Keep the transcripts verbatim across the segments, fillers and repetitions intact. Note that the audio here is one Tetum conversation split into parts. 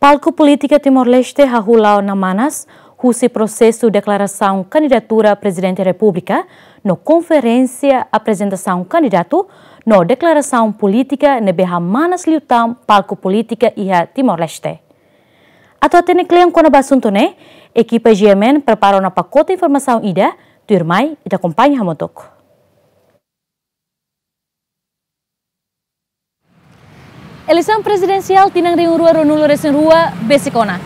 Palku polítika Timor-Leste hahú la'o ona manas husi prosesu deklarasaun kandidatura Prezidente Repúblika no konferénsia aprezentasaun kandidatu no deklarasaun polítika ne'ebé hamanas liután palku polítika iha Timor-Leste. Atu hatene kle'an kona-ba asuntu ne'e, ekipa G M N prepara ona pakote informasaun ida, tuirmai ita akompaña hamutuk. Eleisaun prezidensiál tinan rihun rua ruanulu-resin-rua besik ona.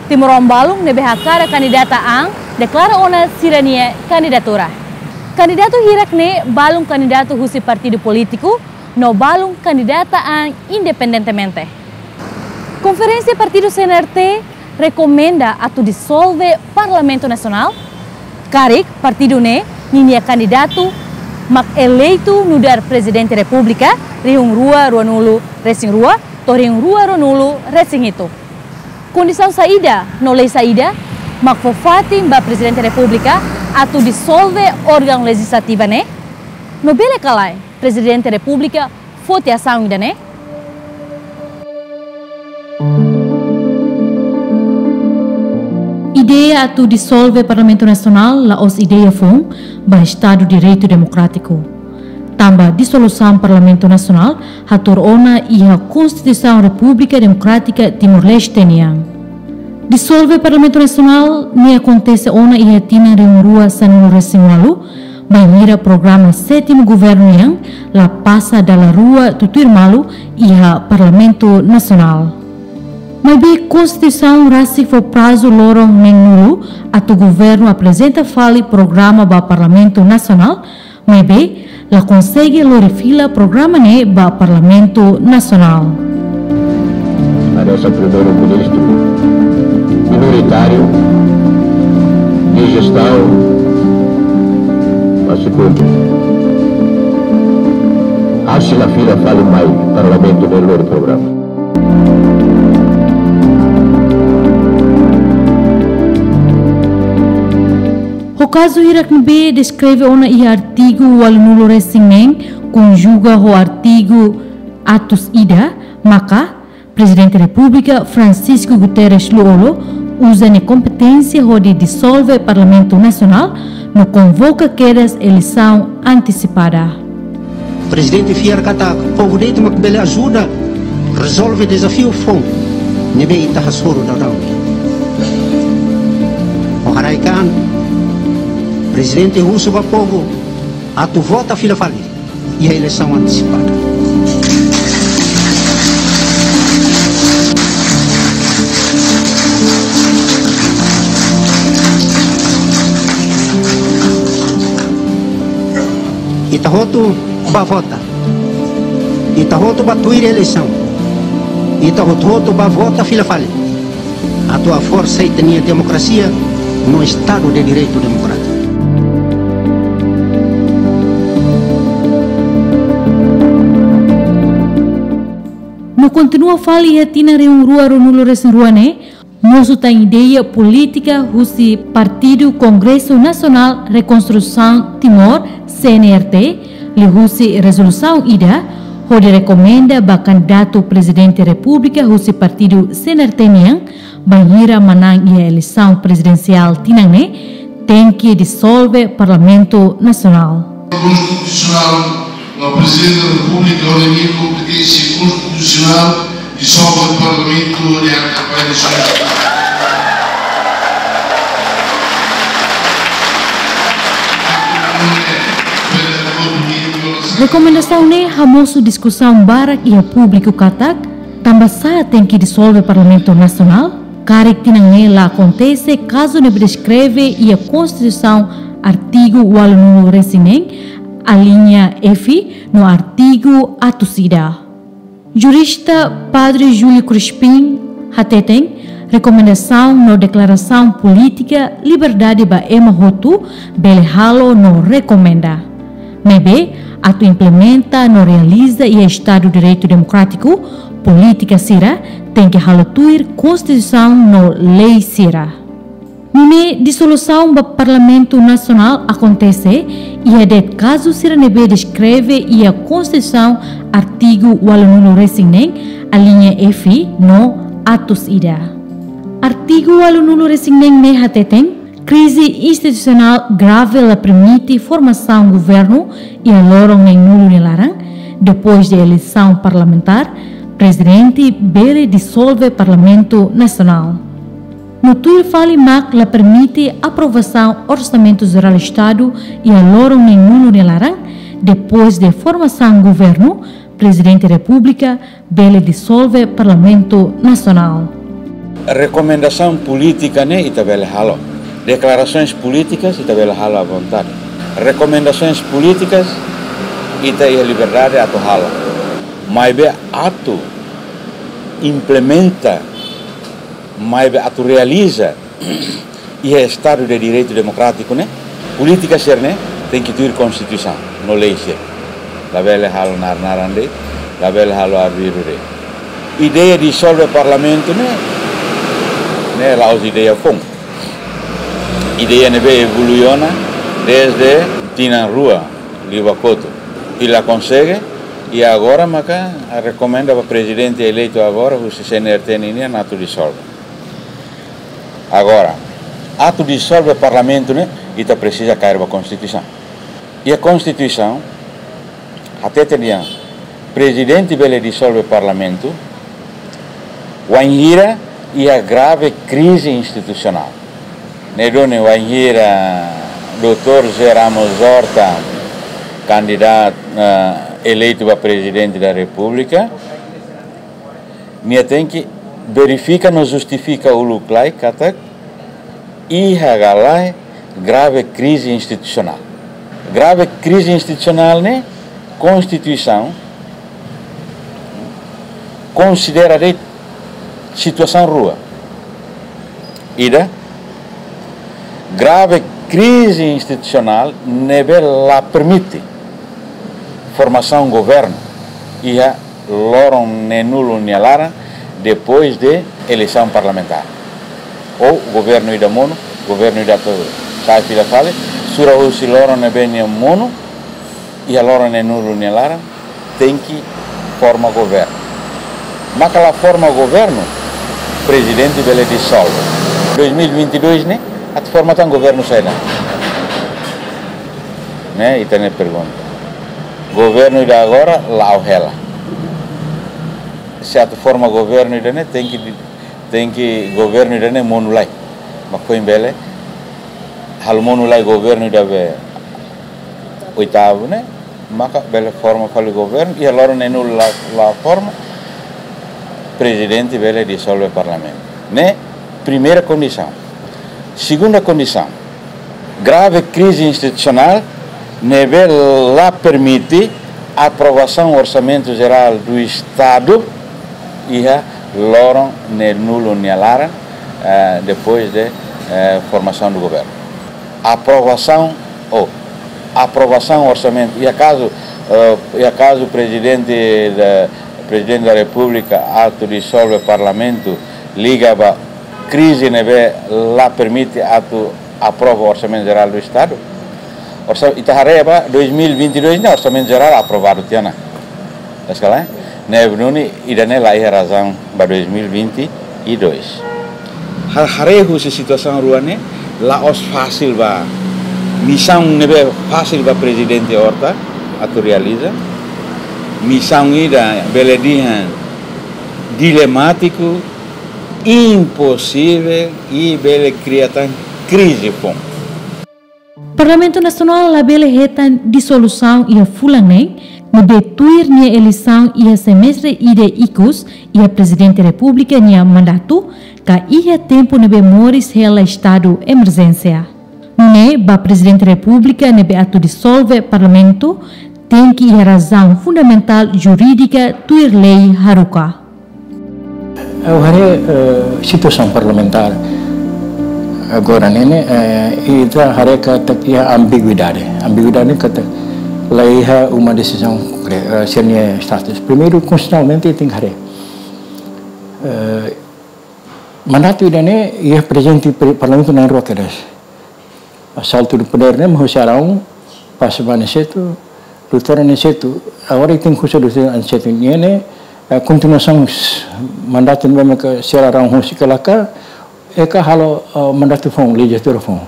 Timoroan balun ne'ebé hakarak kandidata an deklara ona sira-nia kandidatura. Kandidatu hirak ne'e balun kandidatu husi partidu polítiku no balun kandidata an independentemente. Konferénsia partidu C N R T rekomenda atu disolve Parlamentu Nasionál, karik partidu ne'e ninia kandidatu mak eleitu nu'udar Prezidente Repúblika rihun rua ruanulu-resin-rua to'o rihun rua ruanulu-resin-hitu. Kondisaun saida no lei saida mak fó fatin ba Prezidente Repúblika atu disolve órgaun lejislativa ne'e? No bele ka lae Prezidente Repúblika foti asaun ida-ne'e? Ideia atu disolve Parlamentu Nasionál la'ós ideia foun ba Estadu Direitu Demokrátiku. Tanba disolusaun Parlamentu Nasionál hatuur ona iha Konstituisaun Repúblika Demokrátika Timor-Leste nian. Disolve Parlamentu Nasionál ne'e akontese ona iha tinan rihun rua sanulu-resin-ualu, bainhira programa sétimu governu nian la pasa dala rua tutuir malu iha Parlamentu Nasionál. Maibé Konstituisaun rasik fó prazu loron neen-nulu atu governu aprezenta fali programa ba Parlamentu Nasionál, maibé la konsege lori fila programa ne'e ba Parlamentu Nasionál. Parese Primeiru-Ministru minoritáriu de gestão, mas se cumpre. Acho la fila fali mai Parlamentu ne'e lori programa. Ho kazu hirak ne'ebé deskreve ona iha artigu ualunulu-resin-neen, konjuga ho artigu atus ida, maka Prezidente Repúblika Francisco Guterres Lú-Olo uza nia kompeténsia hodi disolve Parlamentu Nasionál no konvoka kedas eleisaun antesipada. Prezidente fiar katak povu de'it mak bele ajuda rezolve dezafiu foun ne'ebé ita hasoru daudaun. Ho haraik an, Prezidente husu ba povu atu vota fila fali iha eleisaun antesipada. Ita hotu bá vota. Ita hotu bá tuir eleisaun. Ita hotu-hotu bá vota fila fali atu haforsa ita-nia demokrasia no Estadu de Direitu Demokrátiku. No kontinua fali iha tinan rihun rua ruanulu-resin-rua ne'e, mosu tan ideia polítika husi Partidu Kongresu Nasionál Rekonstrusaun Timor, C N R T, liuhusi rezolusaun ida hodi rekomenda ba kandidatu Prezidente Repúblika husi partidu C N R T nian, bainhira manán iha eleisaun prezidensiál tinan ne'e, tenke disolve Parlamentu Nasionál. Konstitusionál, no Prezidente da Repúblika hodi nia kompeténsia konstitusionál disolve Parlamentu hodi hakarak ba eleisaun. Rekomendasaun ne'e hamosu diskusaun barak iha públiku katak, tanbasá tenke disolve Parlamentu Nasionál, karik tinan ne'e la akontese kazu ne'ebé deskreve iha Konstituisaun artigu ualunulu-resin-neen, alínea F, no artigu atus ida. Jurista Padre Júlio Crispim hateten, rekomendasaun no deklarasaun polítika liberdade ba ema hotu bele halo no rekomenda. Maibé, atu implementa no realiza iha Estadu Direitu Demokrátiku, polítika sira tenke halo tuir Konstituisaun no lei sira. Nune'e disolusaun ba Parlamentu Nasionál akontese iha de'it kazu sira ne'ebé deskreve iha Konstituisaun artigu ualunulu-resin-neen, alínea F no atus ida. Artigu ualunulu-resin-neen ne'e hateten, krize institusionál grave la permite formasaun governu iha loron neenulu nia laran, depois de eleisaun parlamentár, prezidente bele disolve Parlamentu Nasionál. No tuir fali mak la permite aprovasaun Orsamentu Jerál Estadu iha loron neenulu nia laran, depois de formasaun governu, Prezidente Repúblika bele disolve Parlamentu Nasionál. Rekomendasaun polítika ne'e ita bele halo. Deklarasoens polítikas ita bele halo à vontade. Rekomendasoens polítikas ita iha liberdade atu halo. Maibé atu implementa, maibé atu realiza iha Estadu de Direitu Demokrátiku ne'e, polítika sira-ne'e tenke tuir Konstituisaun no lei sira. Labele halo nar-naran de'it, labele halo arbiru de'it. Ideia disolve Parlamentu ne'e, ne'e la'ós ideia foun. Ideia ne'ebé evolui ona desde tinan rua liu ba kotuk. I la konsege, i agora maka rekomenda ba prezidente eleitu agora, husi C N R T nian, atu disolve. Agora, atu disolve Parlamentu ne'e, ita presiza kaer ba Konstituisaun. Iha Konstituisaun hateten dehan, prezidente bele disolve Parlamentu wainhira iha grave krize institusionál. Ne'e duni wainhira doutór José Ramos Horta kandidatu, eh, eleitu ba Prezidente da Repúblika, nia tenke verifika no justifika uluk lai katak iha ka lae grave krize institusionál. Grave krize institusionál ne'e Konstituisaun konsidera de'it situasaun rua. Ida, grave krize institusionál ne'ebé la permite formasaun governu iha loron neenulu nia laran, depois de eleisaun parlamentár. Ou governu ida monu, governu ida atu sai fila fali, sura husi loron ne'ebé nia monu, iha loron neenulu nia laran, tenke forma governu. Maka la forma governu, prezidente bele disolve. Dois mil e vinte e dois ne'e, atu forma tan governu saida? Ne'e, ita-nia pergunta. Governu ida agora, la'o hela. Se atu forma governu ida-ne'e, tenke di-, tenke governu ida-ne'e monu lai. Mak foin bele, halo monu lai governu ida be oitavu ne'e, maka bele forma fali governu, iha loron neenulu la, la forma, prezidente bele disolve Parlamentu. Ne'e primeira kondisaun. Segunda kondisaun, grave krize institusionál ne'ebé la permite aprovasaun Orsamentu Jerál do Estadu iha loron neenulu nia laran, eh, depois de, eh, formasaun do governu. Aprovasaun, ou aprovasaun orsamentu, iha kazu, eh, iha kazu prezidente da, prezidente da Repúblika atu disolve Parlamentu liga ba krize ne'ebé la permite atu aprova Orsamentu Jerál do Estadu. Orsa-, ita haree ba dois mil e vinte e dois ne'e Orsamentu Jerál aprovadu tiha ona. Eskala, eh? Ne'e duni ida-ne'e la iha razaun ba dois mil e vinte e dois. Ha-, haree husi situasaun rua ne'e, la'ós fasil ba, misaun ne'ebé fasil ba Prezidente Horta atu realiza. Misaun ida bele dehan dilemátiku, imposivel i bele kria tan krize foun. Parlamentu Nasionál labele hetan disolusaun iha fulan neen, ne'ebé tuir nia eleisaun iha semestre ida ikus iha Prezidente Repúblika nia mandatu, ka iha tempu ne'ebé moris hela estadu emerjénsia. Nune'e, ba Prezidente Repúblika ne'ebé atu disolve Parlamentu, tenke iha razaun fundamentál jurídika tuir lei haruka. Ha'u haree, eh, situasaun parlamentár agora ne'e, eh, ita haree katak iha ambiguidade. Ambiguidade katak la iha uma desizaun, eh, sira-nia status. Primeiru, konstitusionalmente tenke haree. Eh, mandatu ida-ne'e iha prezente pre-, Parlamentu na'in rua kedas. Asaltu do poder ne'e, mak husi Araun, pasa ba Aniceto, doutór Aniceto, agora tenke husu doutór Aniceto nian ne'e, Eh, kontinuasaun s-, mandatu ne'ebé mak señora Araun husik ka lae, eh, ka halo, eh, mandatu foun, lejizlatura foun.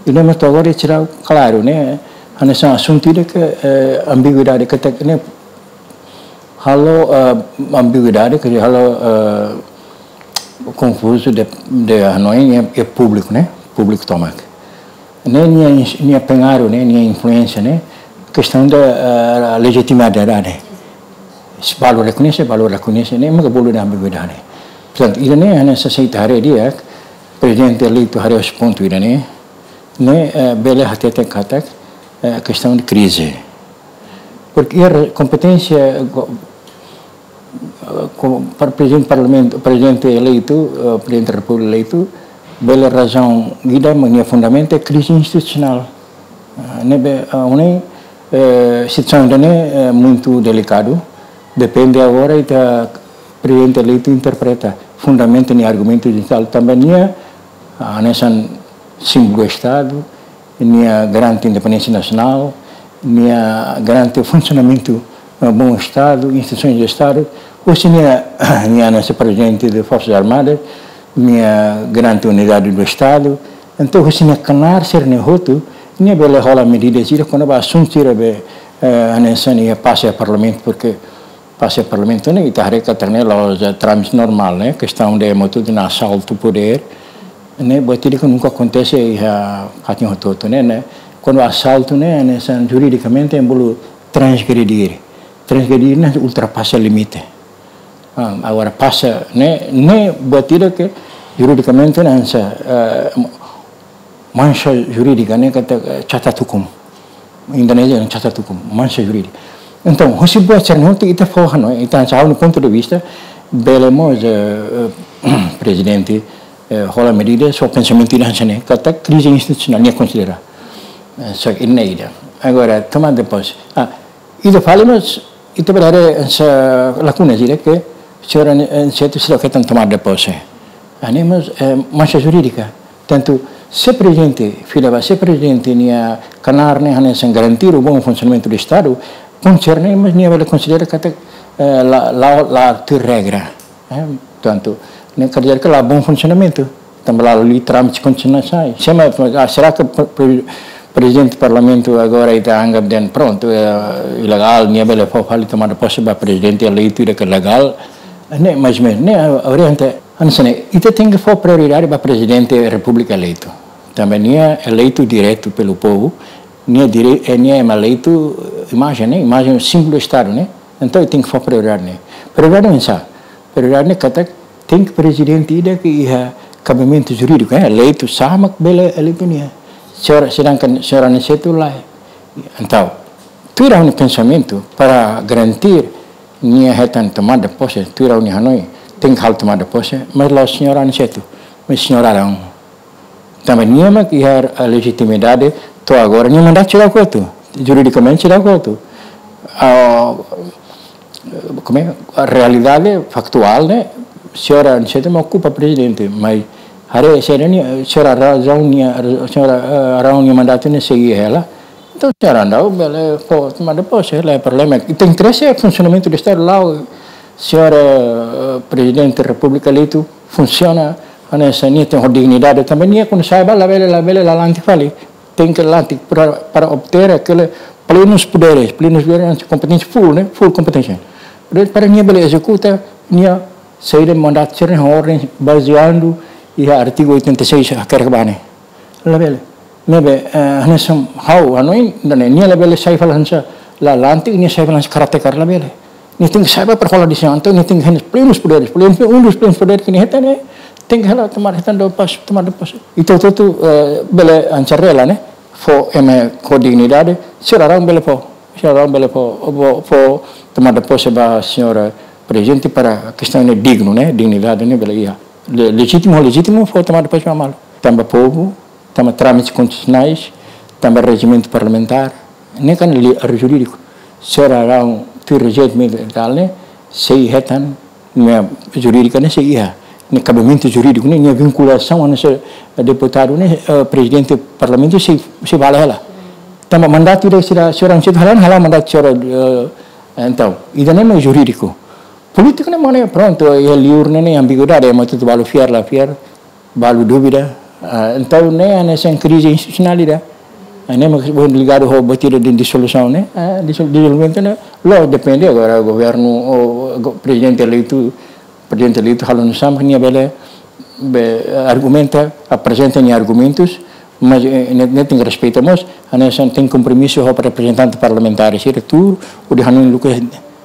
Ida-ne'e mak to'o agora seidauk klaru, ne'e, hanesan asuntu ida ke, eh, ambiguidade katak ne'e halo, eh, ambiguidade, ke halo, eh, konfuzu de, de hanoin, eh, eh, públiku, ne'e? Públiku tomak. Ne'e nia ins-, nia pengaruh, ne'e, nia influénsia, ne'e, kestaun de, eh, lejitimidade, ne'e. Se balu rekoñese, balu rekoñese, ne'e, maka bolu da ambiguidade. Portantu, ida-ne'e, hanesan ita haree di'ak, prezidente eleitu haree husi pontu ida-ne'e, ne'e, eh, bele hatete katak, eh, kestaun de krize. Porke iha kompeténsia, eh, ko-, ko-, para prezidente parlamentu, prezidente eleitu, eh, prezidente repúblika eleitu, bele razaun ida mak nia fundamentu é krize institusionál. Eh, ne'ebé, eh, ohin, eh, situasaun ida-ne'e, eh, muitu delikadu, depende agora ita prezidente eleitu interpreta fundamentu nia argumentu inisiál tanba nia, ah, hanesan símbolu Estadu, nia garante independénsia nasionál, nia garante funsionamentu, eh, bom Estadu, instituisoens de Estadu, husi nia, nia hanesan prezidente de Forsas Armadas, nia garante unidade do Estadu. Entaun, husi nia knaar sira-ne'e hotu, nia bele hola medidas sira kona-ba asuntu sira be, eh, hanesan nia pasa iha parlamentu, porke pasa iha parlamentu ne'e, ita haree katak ne'e la'ós, eh, trámite normál, ne'e, kestaun de motu de asaltu podér, ne'e, buat ida ke nunka akontese iha fatin hotu-hotu, ne'e, ne'e. Kuandu asaltu ne'e, hanesan juridikamente ema bolu transgredir. Transgredir ne'e ultrapasa limite. Ah, agora pasa, ne'e, ne'e buat ida ke juridikamente ne'e hanesan, eh, manxa jurídika, ne'e katak, eh, catat hukum. Indonézia ne'e catat hukum, manxa jurídika. Entaun, husi buat sira-ne'e hotu ita fó hanoin, ita hanesan ha'u-nia pontu de vista, bele mós, eh, eh, prezidente, eh, hola medidas, só pensamentu ida hanesan ne'e, katak krize institusionál, nia konsidera. Eh, só ke ne'e ida. Agora, tomada de pose. Ah, ida fali, mas ita bele haree hanesan lakunas ida ke señora, eh, Aniceto seidauk hetan tomada de pose. Ah, ne'e mós, eh, manxa jurídika. Tantu, se prezidente, fila ba, se prezidente nia knaar ne'e hanesan garantir o bom funcionamento do Estado, konserna, mas nia bele konsidera katak, eh, la, la, la tuir regra. Eh, tantu, ne'e quer dizer ke la bom funsionamentu. Tanba la liu trámite konstitusionál. Se ema, ah, será ke pre-, pre-, prezidente parlamentu agora ita anggap dehan prontu, eh, ilegál, nia bele fó fali tomada pose ba prezidente eleitu ida ke legál? Ne'e, mais ou menos, ne'e, ah, orienta, hanesan ne'e, ita tenke fó prioridade ba prezidente repúblika eleitu. Tanba nia eleitu diretu pelo povu, nia dire-, eh, nia ema eleitu, eh, imajen, ne'e, imajen símbolu Estadu, ne'e? Entaun, tenke fó prioridade, ne'e? Prioridade oinsá? Prioridade ne'e katak tenke prezidente ida ke iha kabimentu jurídiku, eh, eleitu, sá mak bele eleitu nia. Señora, sedangkan señora Aniceto lae. Entaun, tuir ha'u-nia pensamentu, para garantir nia hetan tomada pose, tuir ha'u-nia hanoin, tenke halo tomada pose, mas la'ós señora Aniceto, mas señora Araun. Tanba nia mak iha lejitimidade to'o agora, nia mandatu seidauk kotu, juridikamente seidauk kotu. Ah, como é? A realidade faktuál ne'e, señora Aniceto mak okupa prezidente, mas haree sira-ne'e, señora Araun nia, señora, eh, Araun nia mandatu ne'e sei hela. Entaun, señora Araun bele fó tomada pose, la iha problema. Ita interese é funsionamentu do Estadu, la'ós señora, eh, prezidente repúblika eleitu funsiona, hanesan nia tenke ho dignidade tanba nia kuandu sai ba labele, labele lalante fali. Tenke lalante para, para obter aquele plenos poderes, plenos poderes, kompeténsia full, ne'e? Full kompeténsia. Para nia bele ezekuta nia saida mandatu sira-ne'e, ordens bazeia iha artigu oitenta e seis hakerek ba ne'e. Labele. Ne'ebé, eh, hanesan ha'u hanoin, ida-ne'e, nia labele sai fali hanesan lalante, nia sai fali hanesan karateka, labele. Nia tenke sai ba para hola desizaun, entaun nia tenke iha plenos poderes, plenos, um dos plenos poderes ke nia hetan ne'e, tenke hela tomada, hetan tomada pose, tomada pose. Entaun, entaun, eh, bele hanesan rela, ne'e? Fó ema ho dignidade, señora Araun bele fó, señora Araun bele fó, fó, fó tomada pose ba señora prezidente para kestaun ne'e dignu, ne'e? Dignidade ne'e bele iha. Le-, lejitímu, lejitímu fó tomada pose ba malu. Tanba povu, tanba trámites konstitusionais, tanba rejimentu parlamentár, ne'e kan lei jurídiku. Señora Araun tuir rejimentu militar ne'e, sei hetan, nia jurídika ne'e sei iha. Nia kabimentu jurídiku ne'e, nia vinkulasaun hanesan deputadu ne'e, eh, prezidente parlamentu sei, sei bá hela. Tanba mandatu ida sira, señora Aniceto hala'o, hala'o mandatu señora, eh, entaun, ida-ne'e mak jurídiku. Polítika ne'e mak ne'e, prontu, iha liur ne'e, ne'e ambiguidade, ema atu balu fiar la fiar, balu dúvida. Ah, entaun ne'e hanesan krize institusionál ida. Ah, ne'e mak ligadu ho buat ida di-, dizolusaun ne'e, ah, dizol-, dizolvimentu ne'e, la'ós depende agora governu ou go-, prezidente eleitu, prezidente eleitu halo nusá mak nia bele, be, argumenta, aprezenta nia argumentus, mas, eh, ne'e, ne'e tenke respeita mós, hanesan tenke kompromisu ho reprezentante parlamentár sira tuur, hodi hanoin luku,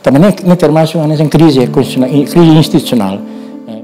tanba ne'e, ne'e termasuk hanesan krize konstitusionál, krize institusionál. Eh.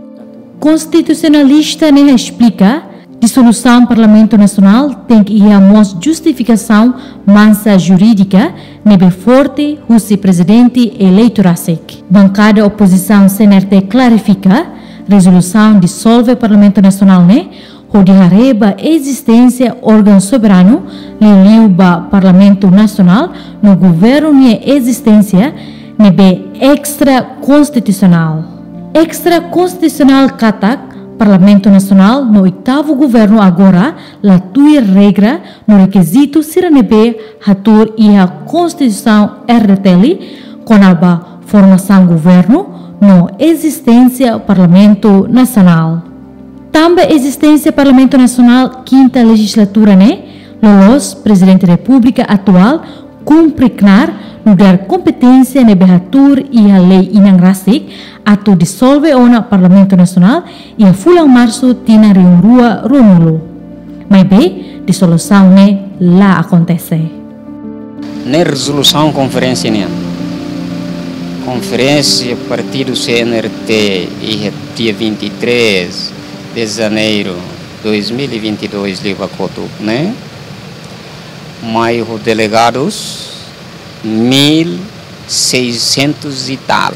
Konstitusionalista ne'e esplika, dizolusaun Parlamentu Nasionál tenke iha mós justifikasaun mansa jurídika ne'ebé forte husi prezidente eleitu rasik. Bankada opozisaun C N R T klarifika, rezolusaun dizolve Parlamentu Nasionál ne'e hodi haree ba ezisténsia órgaun soberanu, liuliu ba Parlamentu Nasionál no governu nia ezisténsia ne'ebé extrakonstitusionál. Extrakonstitusionál katak Parlamentu Nasionál no oitavu governu agora la tuir regra no rekizitu sira ne'ebé hatuur iha Konstituisaun R D T L kona-ba formasaun governu no ezisténsia Parlamentu Nasionál. Tanba ezisténsia Parlamentu Nasionál kinta lejizlatura ne'e, loloos Prezidente Repúblika atuál kumpre knaar nu'udar kompeténsia ne'ebé hatuur iha lei inan rasik atu dizolve ona Parlamentu Nasionál iha fulan Marsu tinan rihun rua ruanulu. Maibé, dizolusaun ne'e la akontese. Ne'e rezolusaun konferénsia nian. Konferénsia partidu C N R T iha dia vinte e três de janeiro dois mil e vinte e dois liu ba kotuk ne'e, mai ho delegadus mil seiscentos e tal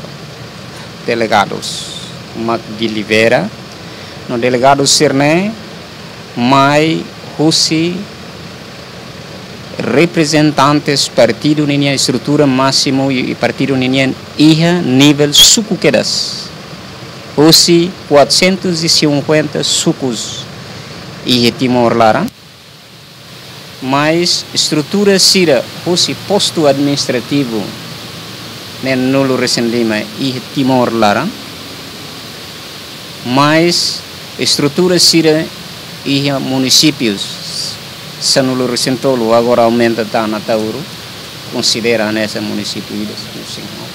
delegadus mak delibera, no delegadus sira-ne'e mai husi reprezentantes partidu ninia estrutura másimu i, i partidu ninia iha nivel suku kedas. Husi quatrocentos e cinquenta sukus iha Timor laran, mais estrutura sira husi postu administrativu neen-nulu resin lima iha Timor laran, mais estrutura sira iha munisípius sanulu resin tolu, agora aumenta tan Ataúro, konsidera hanesan munisípiu ida, sanulu resin haat.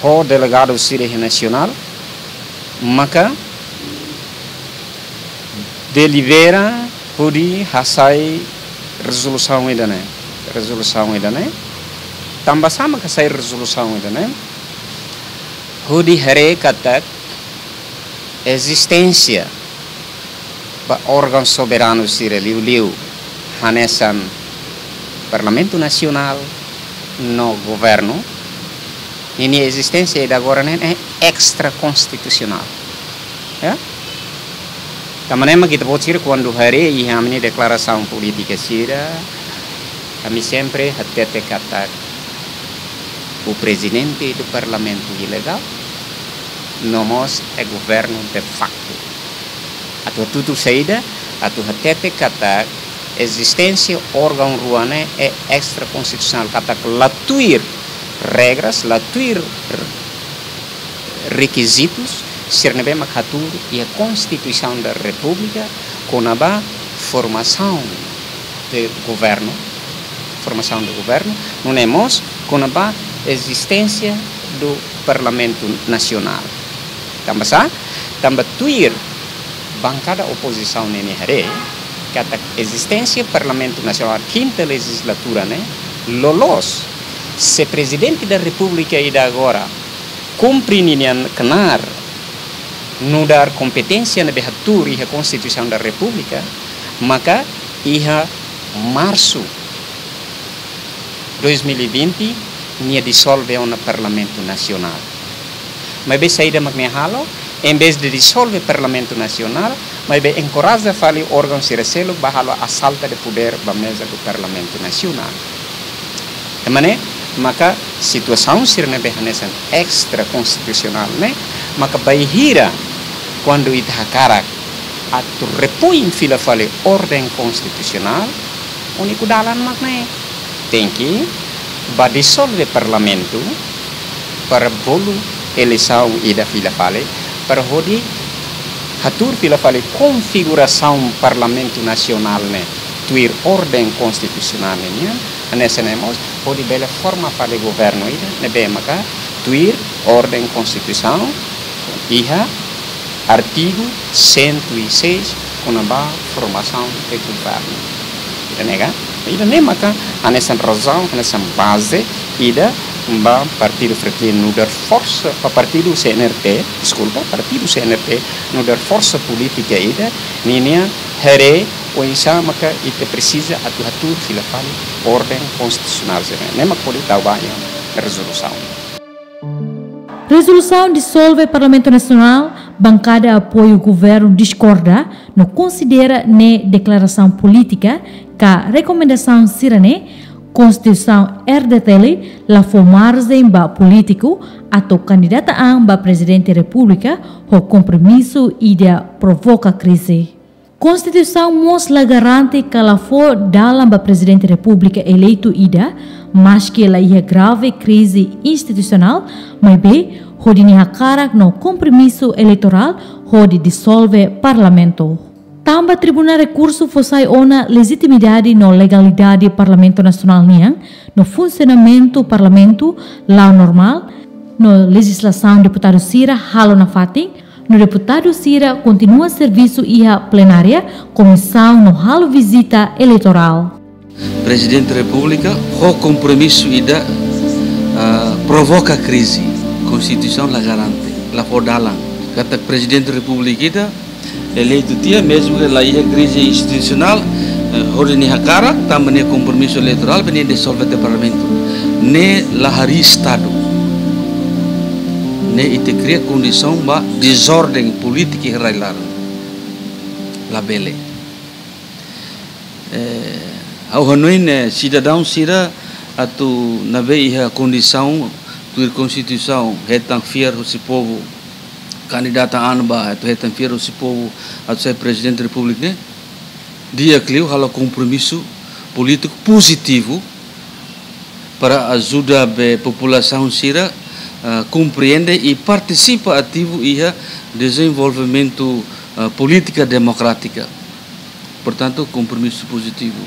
Ho delegadu sira iha nasionál, maka delibera hodi hasai rezolusaun ida-ne'e. Rezolusaun ida-ne'e. Tanba sá maka hasai rezolusaun ida-ne'e? Hodi haree katak ezisténsia ba órgaun soberanu sira liuliu hanesan Parlamentu Nasionál no governu, ninia ezisténsia ida agora ne'e, ne'e extrakonstitusionál. Ya? Tanba ne'e mak ita-boot sira kuandu haree iha ami-nia deklarasaun polítika sira, ami sempre hatete katak o presidente do Parlamento ilegál, no mós é governo de facto. Atu hatutu saida, atu hatete katak ezisténsia órgaun rua ne'e é extrakonstitusionál, katak la tuir regras, la tuir r-, rekizitus sira ne'ebé mak hatuur iha Konstituisaun da Repúblika kona-ba formasaun de governu, formasaun de governu, nune'e mós kona-ba ezisténsia do Parlamentu Nasionál. Tanba sá? Tanba tuir bankada opozisaun ninia haree katak ezisténsia Parlamentu Nasionál kinta lejizlatura ne'e loloos, se Prezidente da Repúblika ida agora kumpre ninia knaar nu'udar kompeténsia ne'ebé hatuur iha Konstituisaun da Repúblika, maka iha Marsu dois mil e vinte nia dizolve ona Parlamentu Nasionál. Maibé saida mak nia halo, em vez de dizolve Parlamentu Nasionál, maibé enkoraja fali órgaun sira seluk ba halo assalto de poder ba meza do Parlamentu Nasionál. Tanba ne'e maka situasaun sira ne'ebé hanesan extrakonstitusionál ne'e, maka bainhira kuandu ita hakarak atu repoin fila fali orden konstitusionál, úniku dalan mak ne'e. Tenke ba dizolve Parlamentu, para bolu eleisaun ida fila fali, para hodi hatuur fila fali konfigurasaun Parlamentu Nasionál ne'e tuir orden konstitusionál ne'e nian, hanesan ne'e mós hodi bele forma fali governu ida ne'ebé maka tuir orden konstituisaun iha artigu cento e seis, kona-ba formasaun de governu. Ida ne'e ka? Ida ne'e maka hanesan razaun, hanesan baze ida ba partidu Fretilin nu'udar forsa, ba partidu C N R T, deskulpa, partidu C N R T nu'udar forsa polítika ida, ninia haree oinsá maka ita presiza atu hatuur fila fali orden konstitusionál sira-ne'e. Ne'e mak hodi tau ba iha rezolusaun. Rezolusaun disolve Parlamentu Nasionál, bankada apoiu governu diskorda no konsidera ne'e deklarasaun polítika ka rekomendasaun sira-ne'e, Konstituisaun R D T L la fó marjen ba polítiku atu kandidata an ba Prezidente Repúblika ho kompromisu ida provoka krize. Konstituisaun mós la garante ka la fó dalan ba Prezidente Repúblika eleitu ida, maski la iha grave krize institusionál, maibé hodi nia hakarak no kompromisu eleitorál hodi disolve Parlamentu. Tanba Tribunál Rekursu fó sai ona lejitimidade no legalidade Parlamentu Nasionál nian, no funsionamentu Parlamentu la'o normál, no lejizlasaun deputadu sira halo nafatin, no deputadu sira kontinua servisu iha plenária, komisaun no halo vizita eleitorál. Prezidente Repúblika ho kompromisu ida, ah, provoka krize. Konstituisaun la garante, la fó dalan. Katak Prezidente Repúblika ida eleitu tiha, mezmu ke la iha krize institusionál, eh, hodi nia hakarak, tanba nia kompromisu eleitorál, bele disolve tiha Parlamentu. Ne'e la harii Estadu. Ne'e ita kria kondisaun ba dezorden polítika iha rai-laran. Labele. Eh, ha'u hanoin, eh, sidadaun sira atu ne'ebé iha kondisaun tuir Konstituisaun hetan fiar husi povu, kandidata an ba atu hetan fiar husi povu atu sai Prezidente Repúblika ne'e, di'ak liu halo kompromisu polítiku pozitivu para ajuda be populasaun sira, ah, komprende i partisipa ativu iha dezenvolvimentu, ah, polítika demokrátika. Portantu, kompromisu pozitivu.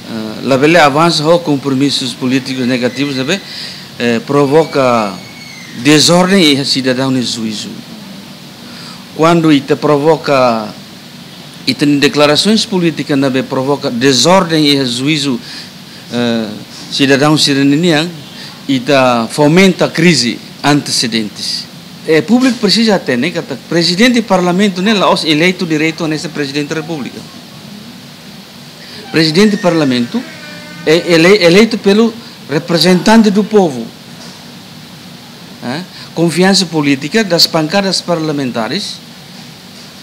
Ah, labele avansa ho kompromisus polítikus negativus, ne'ebé, eh, provoka dezorden iha sidadaun nia juízu. Kuandu ita provoka, ita-nia deklarasoens polítika ne'ebé provoka dezorden iha juízu, eh, sidadaun sira-ninian, ita fomenta krize antesedentes. Eh, públiku presiza hatene katak Prezidente Parlamentu ne'e la'ós eleitu diretu hanesan Prezidente Repúblika. Prezidente Parlamentu é ele-, eleitu pelo representante do povo. Eh, konfiansa polítika das bancadas parlamentares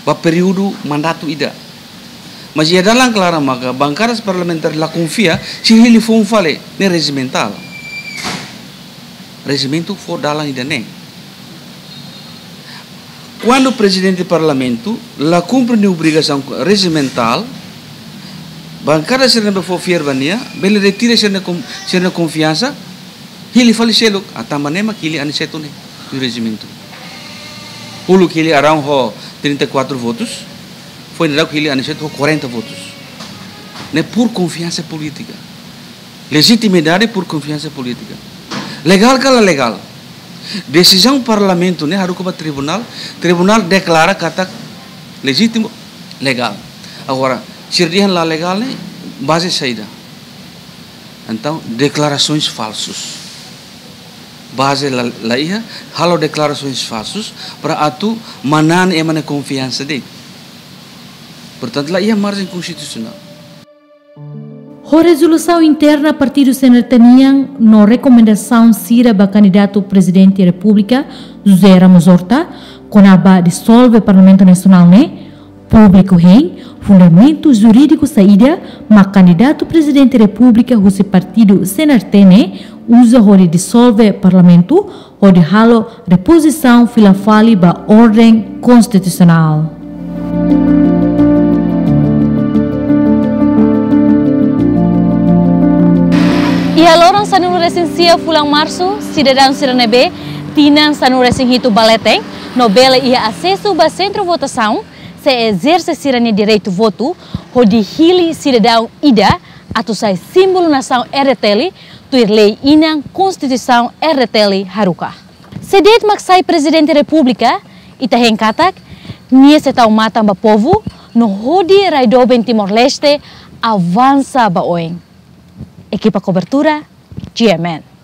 ba períodu mandatu ida. Mas iha dalan klaran maka bankadas parlamentares la konfia, sira hili foun fali, ne'e rejimentál. Rejimentu fó dalan ida-ne'e. Kuandu Prezidente Parlamentu la kumpre nia obrigasaun rejimentál, bankada sira ne'ebé fó fiar ba nia, bele retira sira-nia kon-, sira-nia konfiansa, hili fali seluk, ah, tanba ne'e mak hili Aniceto ne'e, tuir rejimentu. Uluk hili Arão ho trinta e quatro votus, foin daudauk hili Aniceto ho quarenta votus. Ne'e por konfiansa polítika. Lejitimidade por konfiansa polítika. Legál ka la legál? Desizaun Parlamentu ne'e haruka ba tribunál, tribunál deklara katak lejítimu, legál. Agora, sira dehan la legál ne'e, baze saida? Entaun, deklarasoens falsus. Baze la, la iha, halo deklarasoens falsus, para atu manán ema nia konfiansa de'it. Portantu, la iha marjen konstitusionál. Ho rezolusaun interna partidu C N R T nian no rekomendasaun sira ba kandidatu Prezidente Repúblika, José Ramos Horta, kona-ba disolve Parlamentu Nasionál ne'e, públiku hein fundamentu jurídiku saida mak kandidatu Prezidente Repúblika husi partidu C N R T ne'e uza hodi disolve Parlamentu, hodi halo repozisaun fila fali ba orden konstitusionál. Iha loron sanulu-resin-sia fulan Marsu, sidadaun sira ne'ebé Tinan sanulu-resin-hitu ba leten no bele iha asesu ba sentru votasaun, sei ezerse sira-nia direitu votu hodi hili sidadaun ida atu sai símbolu nasaun R D T L tuir lei inan Konstituisaun R D T L haruka. Se de'it mak sai Prezidente Repúblika, ita hein katak nia sei tau matan ba povu no hodi rai doben Timor-Leste avansa ba oin. Ekipa kobertura, G M N.